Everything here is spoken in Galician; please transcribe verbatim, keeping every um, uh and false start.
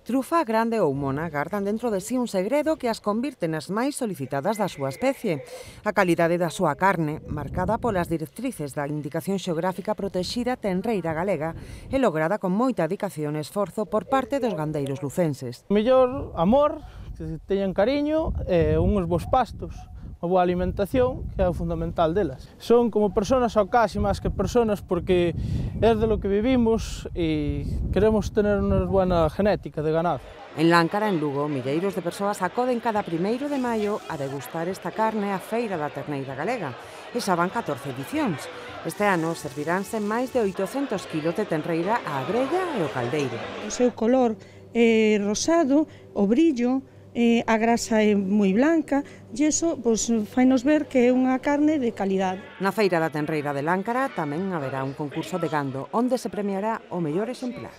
Trufa grande ou mona gardan dentro de si un segredo que as convirte nas máis solicitadas da súa especie. A calidade da súa carne, marcada polas directrices da Indicación Xeográfica Protexida Tenreira Galega, é lograda con moita dedicación e esforzo por parte dos gandeiros lucenses. Mellor amor, que teñan cariño e uns bons pastos. Unha boa alimentación, que é o fundamental delas. Son como persoas ao casi máis que persoas porque é de lo que vivimos e queremos tener unha buena genética de ganado. En Láncara, en Lugo, milleiros de persoas acoden cada primeiro de maio a degustar esta carne á Feira da Terneira Galega. E xa van catorce edicións. Este ano serviránse máis de oitocentos kilos de tenreira á grella e ao caldeiro. O seu color é rosado, o brillo, Eh, a grasa é moi blanca e iso pois, fainos ver que é unha carne de calidade. Na Feira da Tenreira de Láncara tamén haberá un concurso de gando onde se premiará o mellor exemplar.